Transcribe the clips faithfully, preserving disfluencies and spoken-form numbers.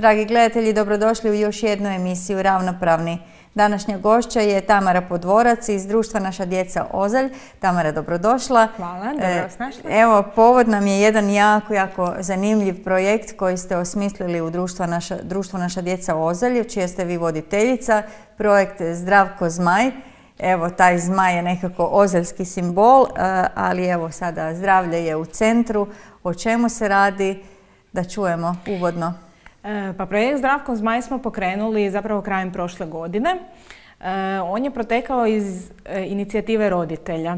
Dragi gledatelji, dobrodošli u još jednu emisiju Ravnopravni. Današnja gošća je Tamara Podvorac iz društva Naša djeca Ozalj. Tamara, dobrodošla. Hvala, dobro vas našla. Evo, povod nam je jedan jako, jako zanimljiv projekt koji ste osmislili u društvu Naša, društvu Naša djeca Ozalj, čija ste vi voditeljica, projekt Zdravko Zmaj. Evo, taj zmaj je nekako ozaljski simbol, ali evo sada zdravlje je u centru. O čemu se radi? Da čujemo uvodno. Pa projekt Zdravko Zmaj smo pokrenuli zapravo krajem prošle godine. On je protekao iz inicijative roditelja.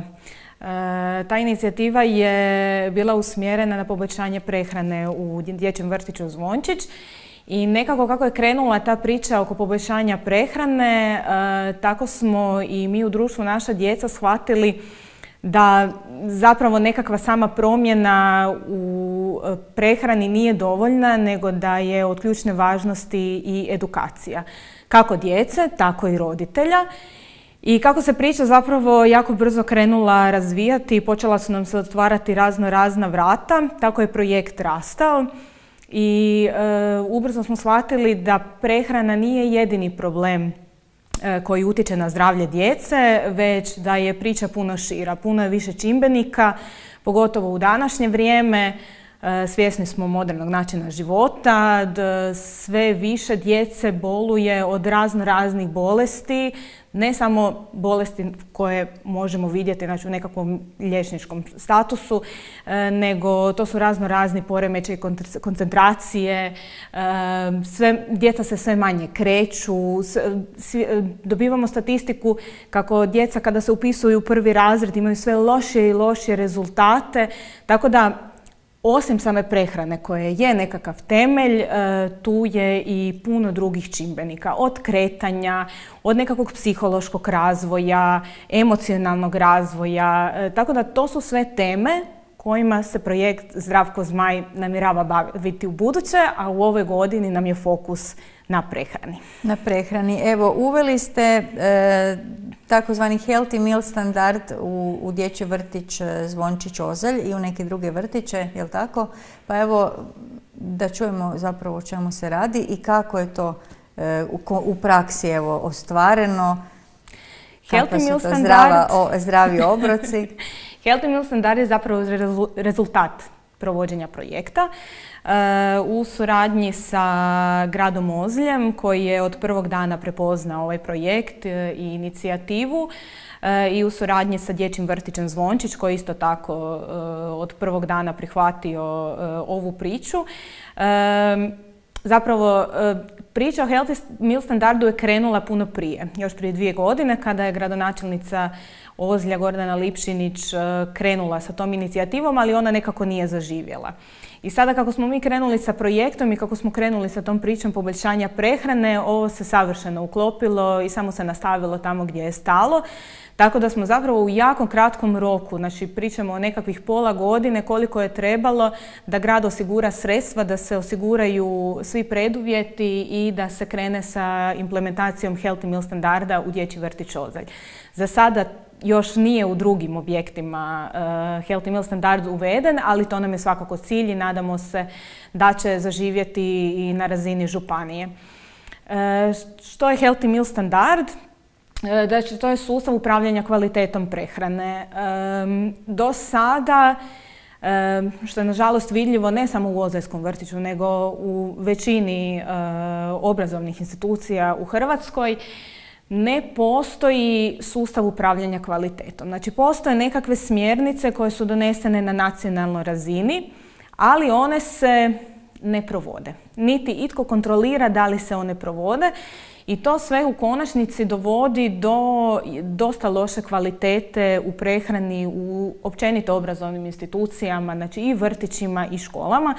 Ta inicijativa je bila usmjerena na poboljšanje prehrane u dječjem vrtiću Zvončić. I nekako kako je krenula ta priča oko poboljšanja prehrane, tako smo i mi u društvu Naša djeca shvatili da zapravo nekakva sama promjena u prehrani nije dovoljna, nego da je od ključne važnosti i edukacija. Kako djece, tako i roditelja. I kako se priča zapravo jako brzo krenula razvijati, počela su nam se otvarati razno razna vrata, tako je projekt rastao. I e, ubrzo smo shvatili da prehrana nije jedini problem e, koji utječe na zdravlje djece, već da je priča puno šira, puno je više čimbenika, pogotovo u današnje vrijeme. E, svjesni smo modernog načina života, da sve više djece boluje od razno raznih bolesti, ne samo bolesti koje možemo vidjeti, znači, u nekakvom liječničkom statusu, e, nego to su razno razni poremećaji koncentracije, e, sve, djeca se sve manje kreću, svi, dobivamo statistiku kako djeca kada se upisuju u prvi razred imaju sve lošije i lošije rezultate, tako da osim same prehrane koje je nekakav temelj, tu je i puno drugih čimbenika, od kretanja, od nekakvog psihološkog razvoja, emocionalnog razvoja, tako da to su sve teme kojima se projekt Zdravko Zmaj namjerava baviti u buduće, a u ovoj godini nam je fokus na prehrani. Na prehrani. Evo, uveli ste e, takozvani healthy meal standard u, u dječji vrtić Zvončić Ozalj i u neke druge vrtiće, jel tako? Pa evo, da čujemo zapravo o čemu se radi i kako je to e, u, u praksi evo, ostvareno. Healthy meal standard... Zdrava, o, zdravi obroci. Healthy meal standard je zapravo rezultat provođenja projekta u suradnji sa gradom Ozljem koji je od prvog dana prepoznao ovaj projekt i inicijativu i u suradnji sa dječjim vrtićem Zvončić koji isto tako od prvog dana prihvatio ovu priču. Zapravo, priča o Healthy meal standardu je krenula puno prije, još prije dvije godine kada je gradonačelnica Ozlja Gordana Lipšinić krenula sa tom inicijativom, ali ona nekako nije zaživjela. I sada kako smo mi krenuli sa projektom i kako smo krenuli sa tom pričom poboljšanja prehrane, ovo se savršeno uklopilo i samo se nastavilo tamo gdje je stalo. Tako da smo zapravo u jako kratkom roku, znači pričamo o nekakvih pola godine koliko je trebalo da grad osigura sredstva, da se osiguraju svi preduvjeti i da se krene sa implementacijom Healthy meal standarda u dječji vrtić Ozalj. Za sada još nije u drugim objektima uh, Healthy meal standard uveden, ali to nam je svakako cilj i nadamo se da će zaživjeti i na razini županije. Uh, što je Healthy meal standard? Znači, to je sustav upravljanja kvalitetom prehrane. Um, do sada, um, što je nažalost vidljivo ne samo u Ozaljskom vrtiću, nego u većini uh, obrazovnih institucija u Hrvatskoj, ne postoji sustav upravljanja kvalitetom. Znači, postoje nekakve smjernice koje su donesene na nacionalnoj razini, ali one se ne provode. Niti itko kontrolira da li se one provode. I to sve u konačnici dovodi do dosta loše kvalitete u prehrani u općenito obrazovnim institucijama, znači i vrtićima i školama.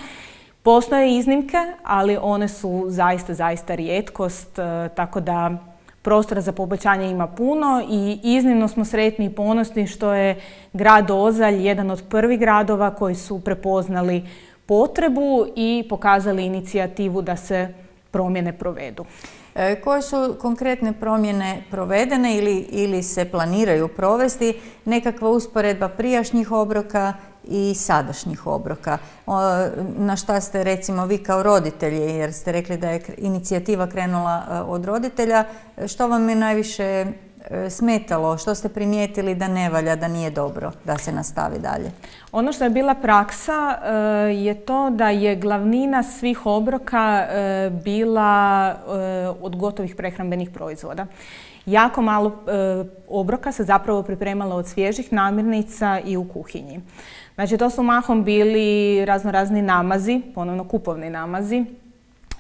Postoje iznimke, ali one su zaista, zaista rijetkost, tako da prostora za poboljšanje ima puno i iznimno smo sretni i ponosni što je grad Ozalj jedan od prvih gradova koji su prepoznali potrebu i pokazali inicijativu da se promjene provedu. E, koje su konkretne promjene provedene ili, ili se planiraju provesti? Nekakva usporedba prijašnjih obroka i sadašnjih obroka. Na šta ste recimo vi kao roditelji, jer ste rekli da je inicijativa krenula od roditelja, što vam je najviše smetalo, što ste primijetili da ne valja, da nije dobro da se nastavi dalje? Ono što je bila praksa je to da je glavnina svih obroka bila od gotovih prehrambenih proizvoda. Jako malo obroka se zapravo pripremalo od svježih namirnica i u kuhinji. Znači, to su mahom bili raznorazni namazi, ponovno kupovni namazi,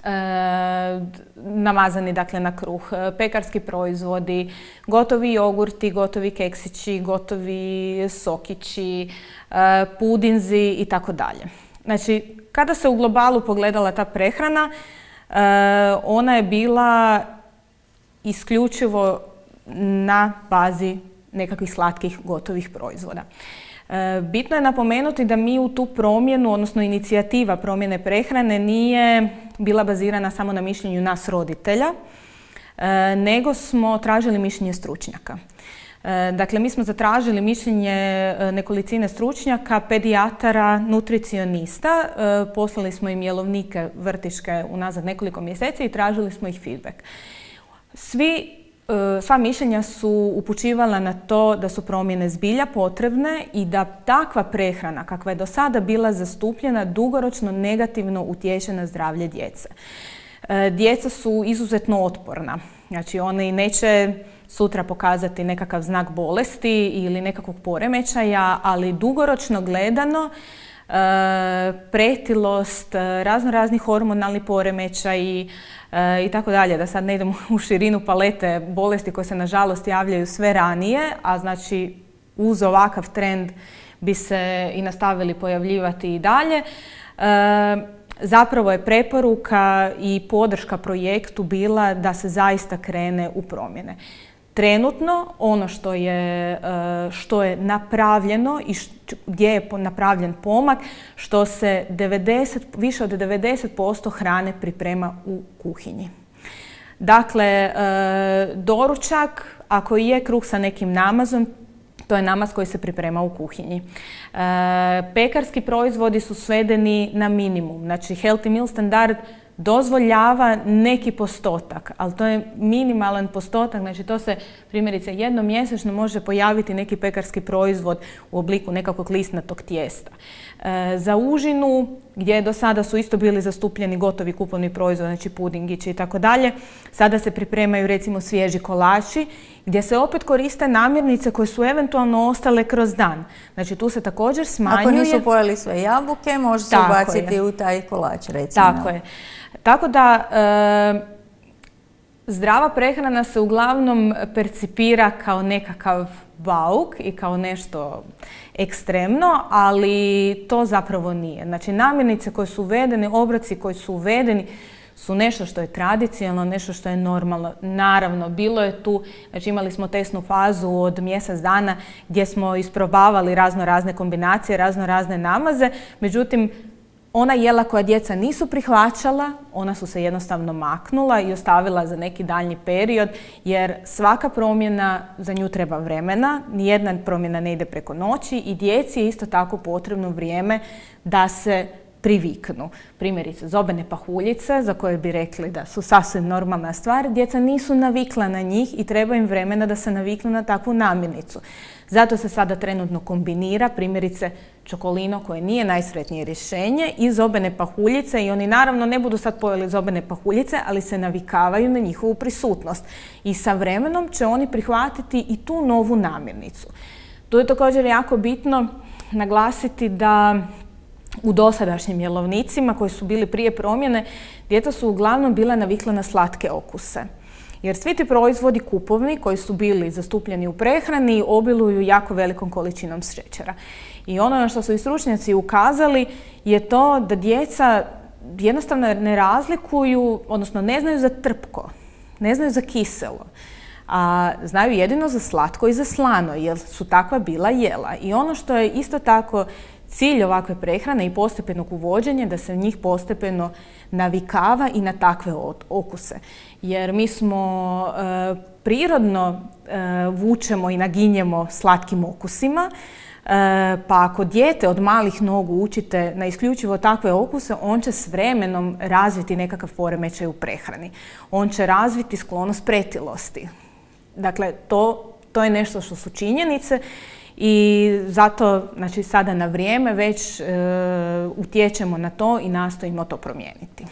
E, namazani dakle na kruh, pekarski proizvodi, gotovi jogurti, gotovi keksići, gotovi sokići, e, pudinzi i tako dalje. Znači, kada se u globalu pogledala ta prehrana, e, ona je bila isključivo na bazi nekakvih slatkih gotovih proizvoda. Bitno je napomenuti da mi u tu promjenu, odnosno inicijativa promjene prehrane nije bila bazirana samo na mišljenju nas roditelja, nego smo tražili mišljenje stručnjaka. Dakle, mi smo zatražili mišljenje nekolicine stručnjaka, pedijatara, nutricionista, poslali smo im jelovnike vrtiške unazad nekoliko mjeseci i tražili smo ih feedback. Svi Sva mišljenja su upućivala na to da su promjene zbilja potrebne i da takva prehrana kakva je do sada bila zastupljena dugoročno negativno utječe na zdravlje djece. Djeca su izuzetno otporna, znači oni neće sutra pokazati nekakav znak bolesti ili nekakvog poremećaja, ali dugoročno gledano pretilost, razno razni hormonalni poremećaji i tako dalje, da sad ne idemo u širinu palete bolesti koje se nažalost javljaju sve ranije, a znači uz ovakav trend bi se i nastavili pojavljivati i dalje. Zapravo je preporuka i podrška projektu bila da se zaista krene u promjene. Trenutno ono što je, što je napravljeno i gdje je napravljen pomak, što se devedeset, više od devedeset posto hrane priprema u kuhinji. Dakle, doručak, ako je kruh sa nekim namazom, to je namaz koji se priprema u kuhinji. Pekarski proizvodi su svedeni na minimum. Znači, Healthy Meal standard dozvoljava neki postotak, ali to je minimalan postotak, znači to se primjerice jednom mjesečno može pojaviti neki pekarski proizvod u obliku nekakvog listnatog tijesta. E, za užinu, gdje do sada su isto bili zastupljeni gotovi kupovni proizvod, znači pudingići i tako dalje, sada se pripremaju recimo svježi kolači, gdje se opet koriste namirnice koje su eventualno ostale kroz dan. Znači tu se također smanjuje... Ako nisu pojeli sve jabuke, može se ubaciti u taj kolač, recimo. Tako je. Tako da e, zdrava prehrana se uglavnom percipira kao nekakav bauk i kao nešto ekstremno, ali to zapravo nije. Znači namirnice koje su uvedene, obroci koji su uvedeni su nešto što je tradicionalno, nešto što je normalno. Naravno, bilo je tu, znači imali smo testnu fazu od mjesec dana gdje smo isprobavali razno razne kombinacije, razno razne namaze, međutim, ona jela koja djeca nisu prihvaćala, ona su se jednostavno maknula i ostavila za neki daljnji period, jer svaka promjena, za nju treba vremena, nijedna promjena ne ide preko noći i djeci je isto tako potrebno vrijeme da se priviknu. Primjerice, zobene pahuljice, za koje bi rekli da su sasvim normalna stvar, djeca nisu navikla na njih i treba im vremena da se naviknu na takvu namirnicu. Zato se sada trenutno kombinira, primjerice, čokolino koje nije najsretnije rješenje i zobene pahuljice i oni naravno ne budu sad pojeli zobene pahuljice, ali se navikavaju na njihovu prisutnost. I sa vremenom će oni prihvatiti i tu novu namirnicu. Tu je također jako bitno naglasiti da u dosadašnjim jelovnicima koji su bili prije promjene, djeca su uglavnom bila navikla na slatke okuse. Jer svi ti proizvodi kupovni koji su bili zastupljeni u prehrani obiluju jako velikom količinom šećera. I ono na što su i stručnjaci ukazali je to da djeca jednostavno ne razlikuju, odnosno ne znaju za trpko, ne znaju za kiselo, a znaju jedino za slatko i za slano, jer su takva bila jela. I ono što je isto tako cilj ovakve prehrane i postepenog uvođenja, da se njih postepeno navikava i na takve okuse. Jer mi smo e, prirodno e, vučemo i naginjemo slatkim okusima. Pa ako dijete od malih nogu učite na isključivo takve okuse, on će s vremenom razviti nekakav poremećaj u prehrani. On će razviti sklonost pretilosti. Dakle, to, to je nešto što su činjenice i zato, znači, sada na vrijeme već e, utječemo na to i nastojimo to promijeniti.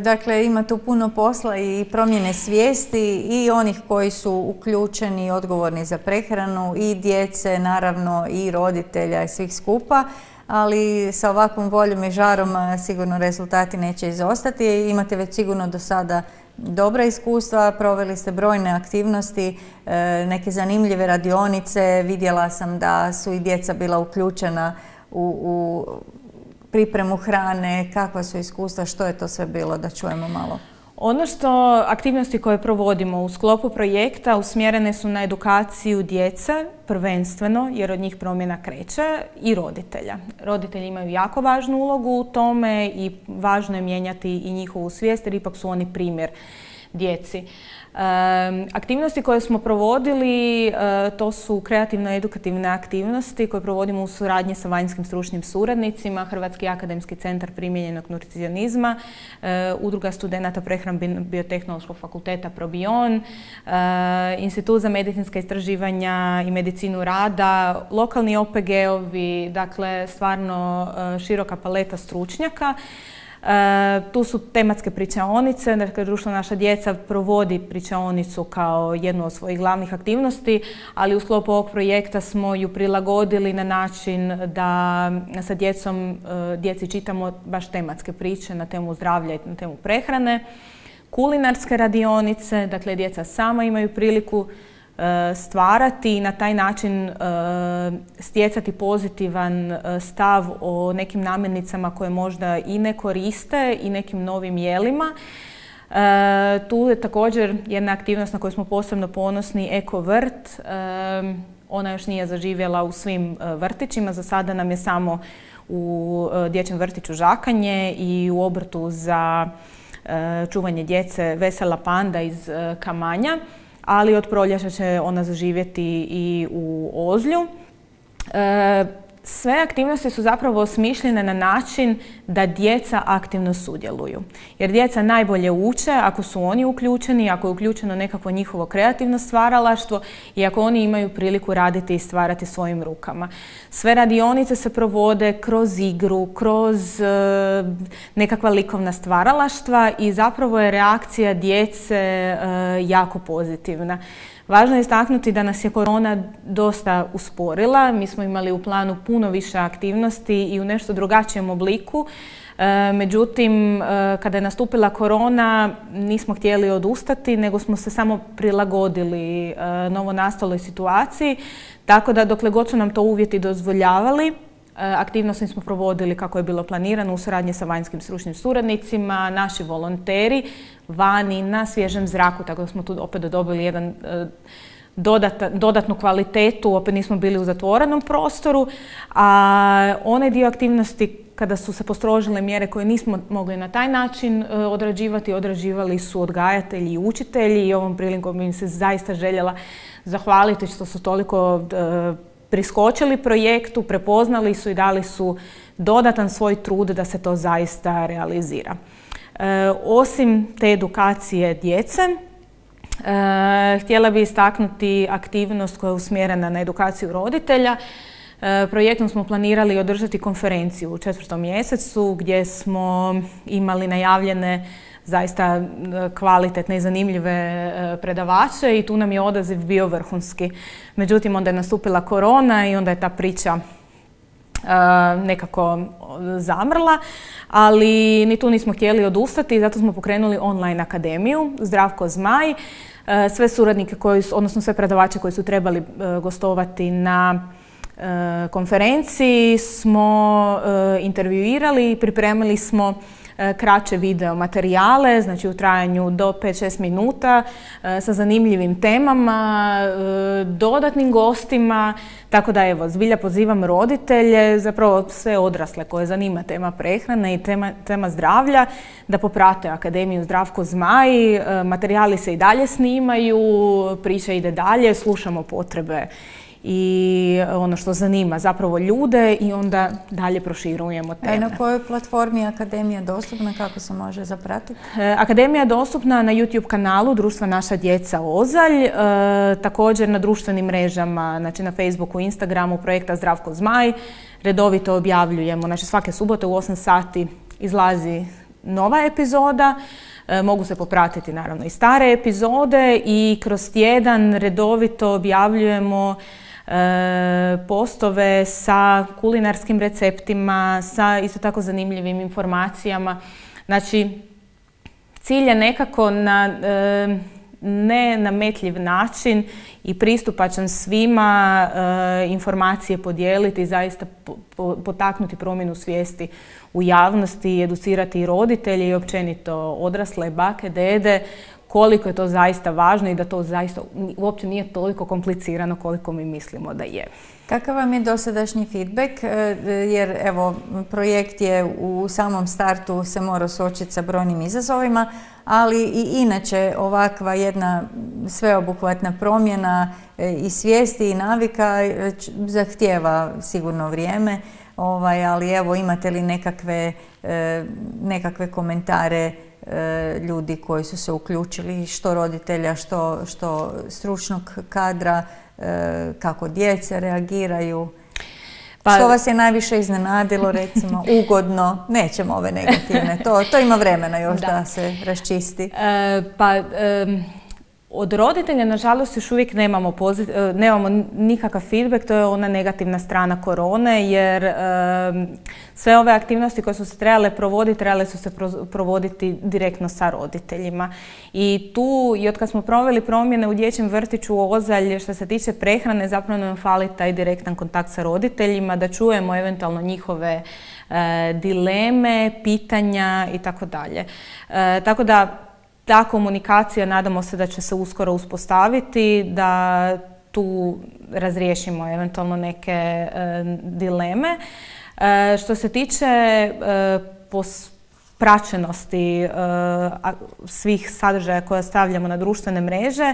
Dakle, ima tu puno posla i promjene svijesti i onih koji su uključeni i odgovorni za prehranu i djece, naravno i roditelja i svih skupa, ali sa ovakvom voljom i žarom sigurno rezultati neće izostati. Imate već sigurno do sada dobra iskustva, proveli ste brojne aktivnosti, neke zanimljive radionice, vidjela sam da su i djeca bila uključena u, u pripremu hrane, kakva su iskustva, što je to sve bilo, da čujemo malo. Ono što aktivnosti koje provodimo u sklopu projekta usmjerene su na edukaciju djece, prvenstveno, jer od njih promjena kreće, i roditelja. Roditelji imaju jako važnu ulogu u tome i važno je mijenjati i njihovu svijest, jer ipak su oni primjer djeci. E, aktivnosti koje smo provodili, e, to su kreativno-edukativne aktivnosti koje provodimo u suradnji sa vanjskim stručnim suradnicima, Hrvatski akademski centar primijenjenog nutricionizma, e, Udruga studenata Prehrambeno-biotehnološkog fakulteta Probion, e, Institut za medicinska istraživanja i medicinu rada, lokalni O P G-ovi, dakle stvarno e, široka paleta stručnjaka. E, tu su tematske pričaonice, dakle Društvo Naša djeca provodi pričaonicu kao jednu od svojih glavnih aktivnosti, ali u sklopu ovog projekta smo ju prilagodili na način da sa djecom, e, djeci čitamo baš tematske priče na temu zdravlja i na temu prehrane. Kulinarske radionice, dakle djeca sama imaju priliku stvarati i na taj način stjecati pozitivan stav o nekim namirnicama koje možda i ne koriste i nekim novim jelima. Tu je također jedna aktivnost na koju smo posebno ponosni, Eko vrt. Ona još nije zaživjela u svim vrtićima, za sada nam je samo u dječjem vrtiću Žakanje i u obrtu za čuvanje djece Vesela panda iz Kamanja, ali od proljeća će ona zaživjeti i u Ozlju. E, sve aktivnosti su zapravo osmišljene na način da djeca aktivno sudjeluju. Jer djeca najbolje uče ako su oni uključeni, ako je uključeno nekakvo njihovo kreativno stvaralaštvo i ako oni imaju priliku raditi i stvarati svojim rukama. Sve radionice se provode kroz igru, kroz e, nekakva likovna stvaralaštva i zapravo je reakcija djece e, jako pozitivna. Važno je istaknuti da nas je korona dosta usporila. Mi smo imali u planu puno više aktivnosti i u nešto drugačijem obliku. E, međutim, e, kada je nastupila korona, nismo htjeli odustati, nego smo se samo prilagodili e, novonastaloj situaciji. Tako da dokle god su nam to uvjeti dozvoljavali, aktivnosti smo provodili kako je bilo planirano u suradnji sa vanjskim stručnim suradnicima, naši volonteri vani na svježem zraku, tako da smo tu opet dobili jedan dodata, dodatnu kvalitetu, opet nismo bili u zatvorenom prostoru, a onaj dio aktivnosti kada su se postrožile mjere koje nismo mogli na taj način odrađivati, odrađivali su odgajatelji i učitelji i ovom prilikom im se zaista željela zahvaliti što su toliko priskočili projektu, prepoznali su i dali su dodatan svoj trud da se to zaista realizira. E, osim te edukacije djece, e, htjela bih istaknuti aktivnost koja je usmjerena na edukaciju roditelja. E, projektom smo planirali održati konferenciju u četvrtom mjesecu gdje smo imali najavljene zaista kvalitetne i zanimljive predavače i tu nam je odaziv bio vrhunski. Međutim, onda je nastupila korona i onda je ta priča nekako zamrla, ali ni tu nismo htjeli odustati i zato smo pokrenuli online akademiju Zdravko Zmaj. Sve suradnike, koji su, odnosno sve predavače koji su trebali gostovati na konferenciji smo intervjuirali i pripremili smo kraće video materijale, znači u trajanju do pet do šest minuta sa zanimljivim temama, dodatnim gostima, tako da evo, zbilja pozivam roditelje, zapravo sve odrasle koje zanima tema prehrane i tema, tema zdravlja, da poprate Akademiju Zdravko Zmaj, materijali se i dalje snimaju, priča ide dalje, slušamo potrebe i ono što zanima zapravo ljude i onda dalje proširujemo teme. A na kojoj platformi je Akademija dostupna, kako se može zapratiti? Akademija je dostupna na YouTube kanalu Društva Naša djeca Ozalj, e, također na društvenim mrežama, znači na Facebooku, Instagramu projekta Zdravko Zmaj. Redovito objavljujemo, znači svake subote u osam sati izlazi nova epizoda. E, mogu se popratiti naravno i stare epizode i kroz tjedan redovito objavljujemo e, postove sa kulinarskim receptima, sa isto tako zanimljivim informacijama. Znači, cilj je nekako na e, nenametljiv način i pristupačan svima e, informacije podijeliti i zaista po, po, potaknuti promjenu svijesti u javnosti, educirati i roditelje i općenito odrasle, bake, dede, koliko je to zaista važno i da to zaista uopće nije toliko komplicirano koliko mi mislimo da je. Kakav vam je dosadašnji feedback? Jer evo, projekt je u samom startu se mora suočiti sa brojnim izazovima, ali i inače ovakva jedna sveobuhvatna promjena i svijesti i navika zahtijeva sigurno vrijeme. Ovaj, ali evo, imate li nekakve, nekakve komentare ljudi koji su se uključili, što roditelja, što, što stručnog kadra, kako djece reagiraju? Pa, što vas je najviše iznenadilo, recimo, ugodno? Nećemo ove negativne, to, to ima vremena još da, da se raščisti. E, pa, e, od roditelja, nažalost, još uvijek nemamo, pozit, nemamo nikakav feedback, to je ona negativna strana korone, jer e, sve ove aktivnosti koje su se trebale provoditi, trebale su se provoditi direktno sa roditeljima. I tu, i od kad smo proveli promjene u dječjem vrtiću u Ozalj, što se tiče prehrane, zapravo nam fali taj direktan kontakt sa roditeljima, da čujemo eventualno njihove e, dileme, pitanja i tako dalje. Tako da, ta komunikacija, nadamo se da će se uskoro uspostaviti, da tu razriješimo eventualno neke e, dileme. E, što se tiče e, pos praćenosti e, svih sadržaja koje stavljamo na društvene mreže, e,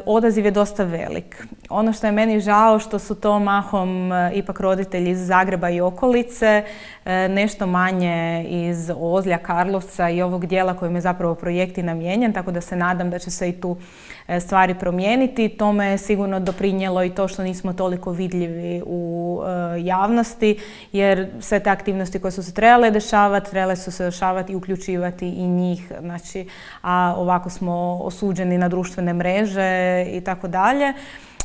odaziv je dosta velik. Ono što je meni žao, što su to mahom e, ipak roditelji iz Zagreba i okolice, e, nešto manje iz Ozlja, Karlovca i ovog dijela kojim je zapravo projekt i namijenjen, tako da se nadam da će se i tu e, stvari promijeniti. Tome je sigurno doprinijelo i to što nismo toliko vidljivi u e, javnosti, jer sve te aktivnosti koje su se trebale dešavati, trebale su se dešavati i uključivati i njih, znači, a ovako smo osuđeni na društvene mreže i tako dalje.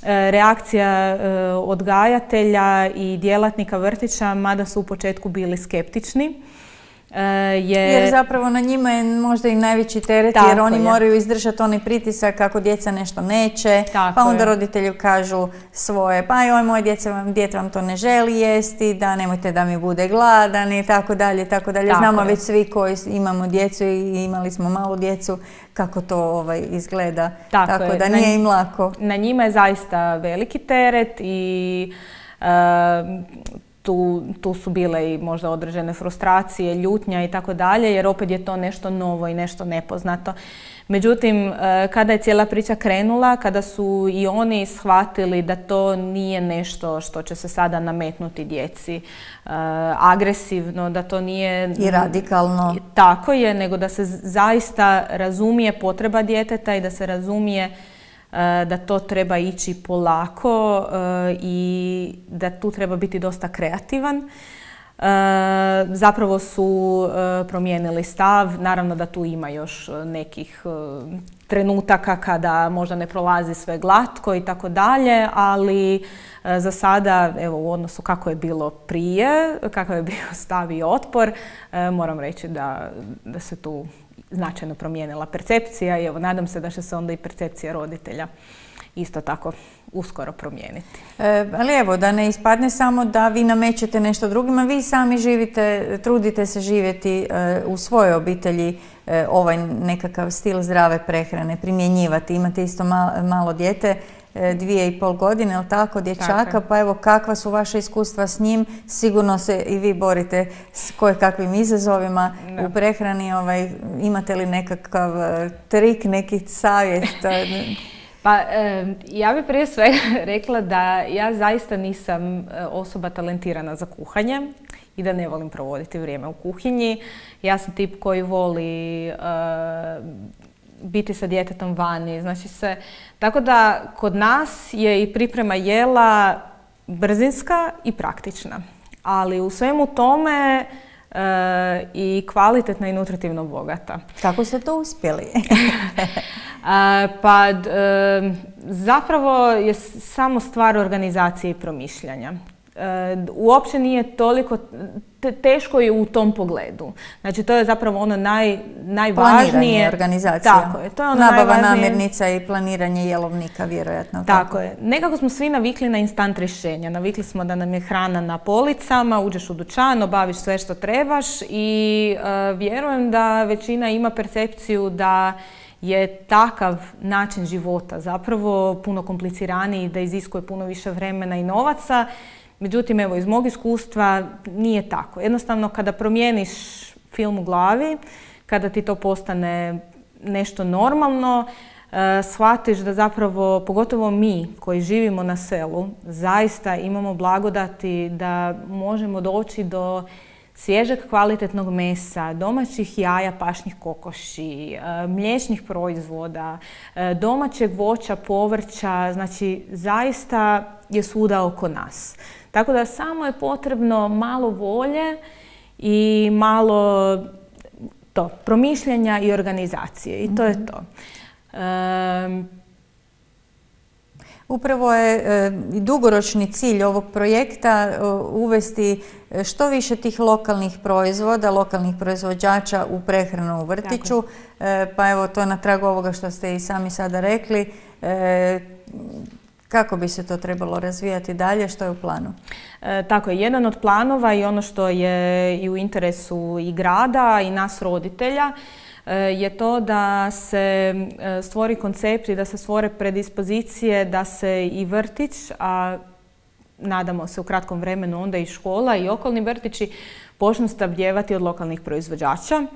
Reakcija odgajatelja i djelatnika vrtića, mada su u početku bili skeptični. Je... Jer zapravo na njima je možda i najveći teret, jer oni je. moraju izdržati onaj pritisak kako djeca nešto neće, Tako pa onda je. roditelji kažu svoje, pa joj, moje djece vam, dijete vam to ne želi jesti, da nemojte da mi bude gladan i tako dalje, tako dalje. Tako Znamo je. već svi koji imamo djecu i imali smo malu djecu, kako to ovaj, izgleda, tako, tako da nije na, im lako. Na njima je zaista veliki teret i uh, Tu, tu su bile i možda određene frustracije, ljutnja i tako dalje, jer opet je to nešto novo i nešto nepoznato. Međutim, kada je cijela priča krenula, kada su i oni shvatili da to nije nešto što će se sada nametnuti djeci agresivno, da to nije... I radikalno. Tako je, nego da se zaista razumije potreba djeteta i da se razumije da to treba ići polako i da tu treba biti dosta kreativan. Zapravo su promijenili stav, naravno da tu ima još nekih trenutaka kada možda ne prolazi sve glatko i tako dalje, ali za sada, evo, u odnosu kako je bilo prije, kakav je bio stav i otpor, moram reći da, da se tu značajno promijenila percepcija i evo, nadam se da će se onda i percepcija roditelja isto tako uskoro promijeniti. E, ali evo, da ne ispadne samo da vi namećete nešto drugima, vi sami živite, trudite se živjeti e, u svojoj obitelji e, ovaj nekakav stil zdrave prehrane, primjenjivati. Imate isto malo, malo dijete, e, dvije i pol godine, ali tako, dječaka, tako. Pa evo, kakva su vaše iskustva s njim? Sigurno se i vi borite s kojekakvim izazovima no. u prehrani. Ovaj, imate li nekakav trik, neki savjet? Pa ja bih prije svega rekla da ja zaista nisam osoba talentirana za kuhanje i da ne volim provoditi vrijeme u kuhinji. Ja sam tip koji voli uh, biti sa djetetom vani. Znači se, tako da kod nas je i priprema jela brzinska i praktična. Ali u svemu tome uh, i kvalitetna i nutritivno bogata. Kako ste to uspjeli? uh, pa uh, zapravo je samo stvar organizacije i promišljanja. Uopće nije toliko teško je u tom pogledu. Znači to je zapravo ono naj, najvažnije. Planiranje, organizacija. Tako je. To je ono nabava najvažnije. Namirnica i planiranje jelovnika, vjerojatno. Tako, tako je. Nekako smo svi navikli na instant rješenja. Navikli smo da nam je hrana na policama, uđeš u dućan, obaviš sve što trebaš i uh, vjerujem da većina ima percepciju da je takav način života zapravo puno kompliciraniji, da iziskuje puno više vremena i novaca. Međutim, evo, iz mog iskustva nije tako. Jednostavno, kada promijeniš film u glavi, kada ti to postane nešto normalno, uh, shvatiš da zapravo, pogotovo mi koji živimo na selu, zaista imamo blagodati da možemo doći do svježeg kvalitetnog mesa, domaćih jaja, pašnih kokoši, uh, mliječnih proizvoda, uh, domaćeg voća, povrća, znači zaista je svuda oko nas. Tako da samo je potrebno malo volje i malo to, promišljanja i organizacije. I to je to. Um, Upravo je e, dugoročni cilj ovog projekta e, uvesti što više tih lokalnih proizvoda, lokalnih proizvođača u prehranu u vrtiću. E, pa evo to na tragu ovoga što ste i sami sada rekli. E, Kako bi se to trebalo razvijati dalje? Što je u planu? E, tako je, jedan od planova i ono što je i u interesu i grada i nas roditelja e, je to da se e, stvori koncept i da se stvore predispozicije da se i vrtić, a nadamo se u kratkom vremenu onda i škola i okolni vrtići počnu snabdijevati od lokalnih proizvođača.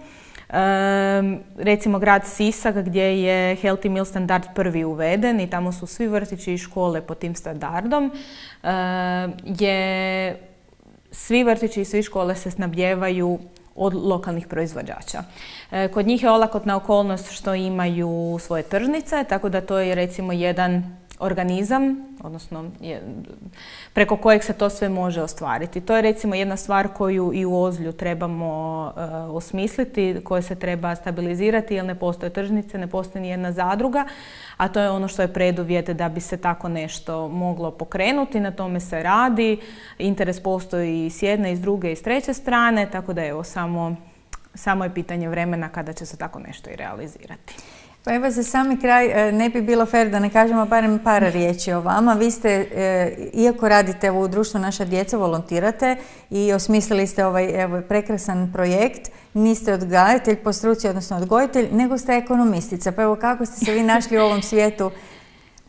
Um, recimo grad Sisak gdje je Healthy Meal standard prvi uveden i tamo su svi vrtići i škole pod tim standardom, uh, je svi vrtići i svi škole se snabdijevaju od lokalnih proizvođača. Uh, kod njih je olakotna okolnost što imaju svoje tržnice, tako da to je recimo jedan organizam, odnosno je, preko kojeg se to sve može ostvariti. To je recimo jedna stvar koju i u Ozlju trebamo uh, osmisliti, koja se treba stabilizirati jer ne postoje tržnice, ne postoji ni jedna zadruga, a to je ono što je preduvjet da bi se tako nešto moglo pokrenuti. Na tome se radi, interes postoji i s jedne, i s druge, i s treće strane, tako da evo samo, samo je pitanje vremena kada će se tako nešto i realizirati. Pa evo za sami kraj, ne bi bilo fer da ne kažemo barem par riječi o vama. Vi ste, iako radite u društvu Naša djeca, volontirate i osmislili ste ovaj evo, prekrasan projekt. Niste odgajatelj po struci, odnosno odgojitelj, nego ste ekonomistica. Pa evo kako ste se vi našli u ovom svijetu?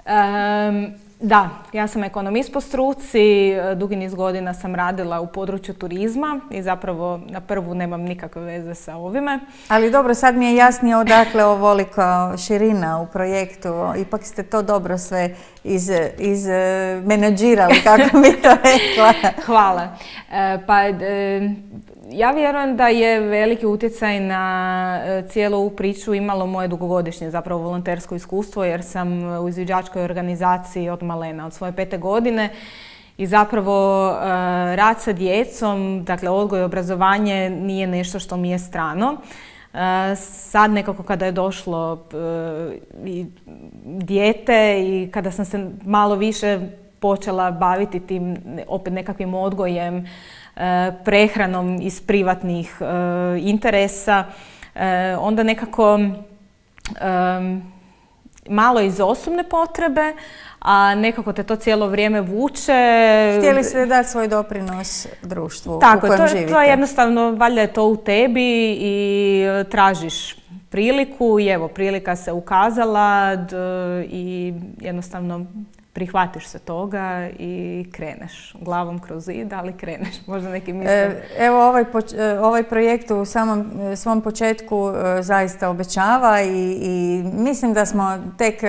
Um, Da, ja sam ekonomist po struci, dugi niz godina sam radila u području turizma i zapravo na prvu nemam nikakve veze sa ovime. Ali dobro, sad mi je jasnije odakle ovolika širina u projektu, ipak ste to dobro sve iz, iz menadžirali, kako bi to rekla. Hvala. E, pa, e, ja vjerujem da je veliki utjecaj na cijelu ovu priču imalo moje dugogodišnje zapravo volontersko iskustvo jer sam u izviđačkoj organizaciji od malena, od svoje pete godine i zapravo uh, rad sa djecom, dakle odgoj i obrazovanje nije nešto što mi je strano. Uh, sad nekako kada je došlo uh, i dijete i kada sam se malo više počela baviti tim opet nekakvim odgojem, prehranom iz privatnih uh, interesa, uh, onda nekako um, malo iz osobne potrebe, a nekako te to cijelo vrijeme vuče. Htjeli ste dati svoj doprinos društvu Tako, u kojem to, živite. to je jednostavno, valjda je to u tebi i tražiš priliku i evo, prilika se ukazala d, i jednostavno prihvatiš se toga i kreneš glavom kroz zid, ali kreneš. Možda neki misle. Evo, ovaj, ovaj projekt u samom svom početku zaista obećava i, i mislim da smo tek,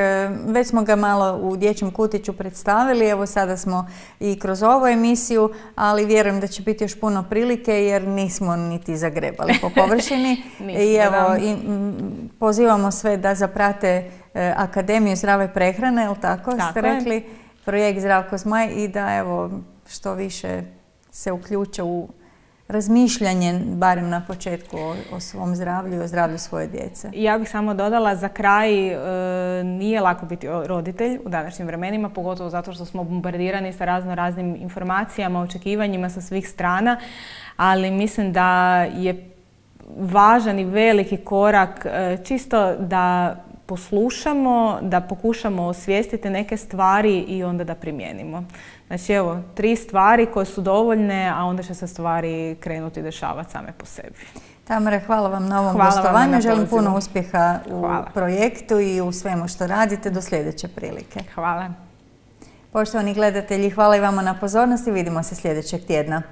već smo ga malo u dječjem kutiću predstavili, evo sada smo i kroz ovu emisiju, ali vjerujem da će biti još puno prilike jer nismo niti zagrebali po površini. I evo, i, m, pozivamo sve da zaprate Akademiju zdrave prehrane, jel tako, tako ste rekli, je. Projekt Zdravko Zmaj i da evo što više se uključe u razmišljanje, barem na početku, o, o svom zdravlju i o zdravlju svoje djece. Ja bih samo dodala za kraj, e, nije lako biti roditelj u današnjim vremenima, pogotovo zato što smo bombardirani sa razno raznim informacijama, očekivanjima sa svih strana, ali mislim da je važan i veliki korak e, čisto da poslušamo, da pokušamo osvijestiti neke stvari i onda da primijenimo. Znači evo, tri stvari koje su dovoljne, a onda će se stvari krenuti dešavati same po sebi. Tamara, hvala vam na ovom hvala gostovanju. Na želim puno uspjeha u hvala. projektu i u svemu što radite. Do sljedeće prilike. Hvala. Poštovani gledatelji, hvala i vama na pozornosti. Vidimo se sljedećeg tjedna.